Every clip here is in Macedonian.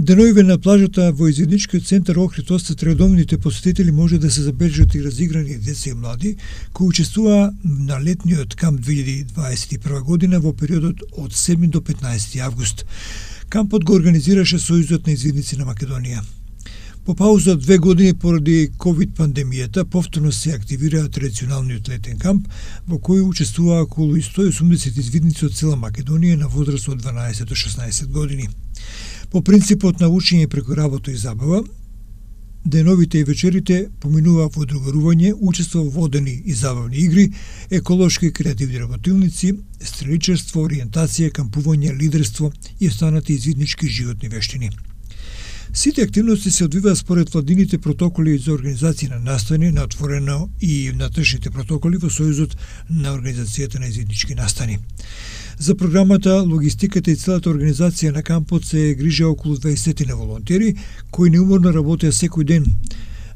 Деновиве на плажата во извидничкиот центар Охрид остат редовните посетители може да се забележат и разиграни деца и млади кои учествуваа на летниот камп 2021 година во периодот од 7 до 15 август. Кампот го организираше Сојузот на извидници на Македонија. По пауза од 2 години поради ковид пандемијата повторно се активира традиционалниот летен камп во кој учествуваа околу 180 извидници од цела Македонија на возраст од 12 до 16 години. По принципот на учење преку работа и забава, деновите и вечерите поминуваа во другарување, учество во водени и забавни игри, еколошки и креативни работилници, стреличарство, ориентација, кампување, лидерство и останати извиднички животни вештини. Сите активности се одвиваат според владините протоколи за организација на настани на отворено и внатрешните протоколи во Сојузот на организацијата на извиднички настани. За програмата, логистиката и целата организација на кампот се грижа околу 20 на волонтери, кои неуморно работеа секој ден.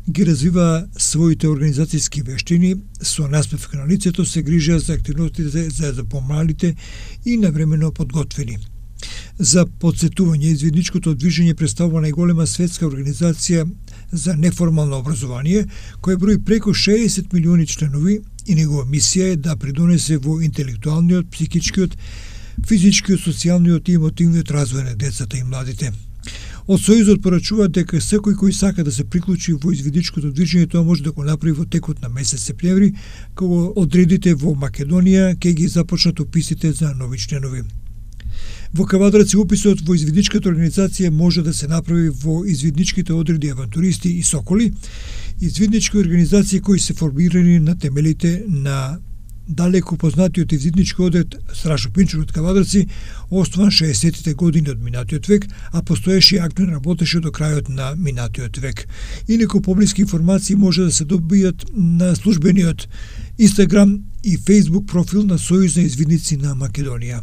Ги развива своите организацијски вештини, со наспев на лицето се грижа за активностите за помалите и навремено подготвени. За подсетување, извидничкото движење представува најголема светска организација за неформално образование, која брои преку 60 милиони членови и негова мисија е да придонесе во интелектуалниот, психичкиот, физичкиот, социјалниот и емотивниот развој на децата и младите. Од Сојузот порачуваат дека секој кој сака да се приклучи во извидничкото движење, тоа може да го направи во текот на месец септември, кога одредите во Македонија ќе ги започнат описите за нови членови. Во Кавадарци описот во извидничката организација може да се направи во извидничките одреди авантуристи и соколи, извиднички организации кои се формирани на темелите на далеко познатиот извиднички одред Страшо Пинчур од Кавадарци, основан 60-тите години од минатиот век, а постоеше и активно работеше до крајот на минатиот век. Инаку поблиски информации може да се добијат на службениот Инстаграм и Фејсбук профил на Сојуз на извидници на Македонија.